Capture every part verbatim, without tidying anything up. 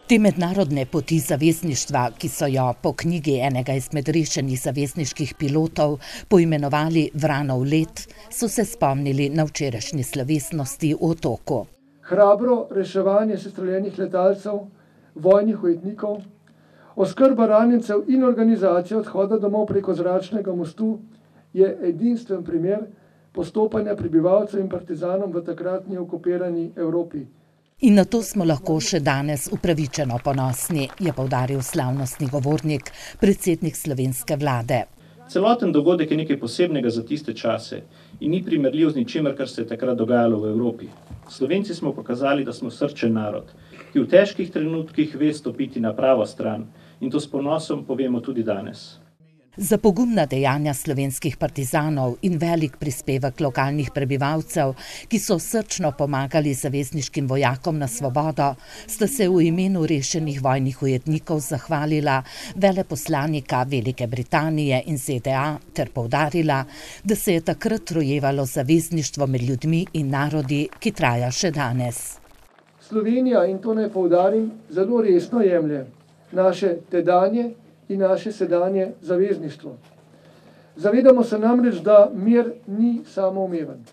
Te mednarodne poti zavezništva, ki so jo po knjigi enega izmed rešenih zavezniških pilotov poimenovali Vranov let, so se spomnili na včerajšnji slovesnosti v Otoku. Hrabro reševanje sestreljenih letalcev, vojnih ujetnikov, oskrba ranjencev in organizacija odhoda domov preko zračnega mostu je edinstven primer postopanja prebivalcev in partizanov v takratni okupirani Evropi. In na to smo lahko še danes upravičeno ponosni, je poudaril slavnostni govornik, predsednik slovenske vlade. Celoten dogodek je nekaj posebnega za tiste čase in ni primerljiv z ničemer, kar se je takrat dogajalo v Evropi. Slovenci smo pokazali, da smo srčen narod, ki v težkih trenutkih ve stopiti na pravo stran, in to s ponosom povemo tudi danes. Za pogumna dejanja slovenskih partizanov in velik prispevek lokalnih prebivalcev, ki so srčno pomagali zavezniškim vojakom na svobodo, sta se v imenu rešenih vojnih ujetnikov zahvalila veleposlanika Velike Britanije in Z D A ter poudarila, da se je takrat rojevalo zavezništvo med ljudmi in narodi, ki traja še danes. Slovenija, in to naj poudarim, zelo resno jemlje naše tedanje in naše sedanje zavezništvo. Zavedamo se namreč, da mir ni samoumeven.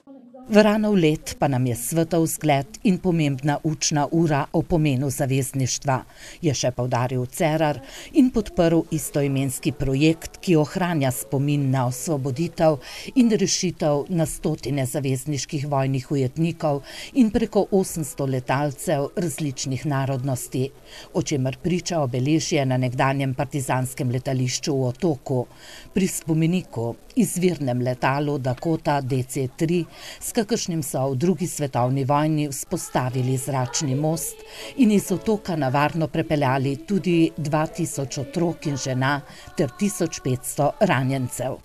Vranov let pa nam je svetov zgled in pomembna učna ura o pomenu zavezništva, je še poudaril Cerar in podprl istoimenski projekt, ki ohranja spomin na osvoboditev in rešitev na stotine zavezniških vojnih ujetnikov in preko osemsto letalcev različnih narodnosti, o čemer priča obeležje na nekdanjem partizanskem letališču v Otoku, pri spomeniku izvirnem letalu Dakota D C tri, s kakršnim so v drugi svetovni vojni vzpostavili zračni most in iz Otoka na varno prepeljali tudi dva tisoč otrok in žena ter tisoč petsto ranjencev.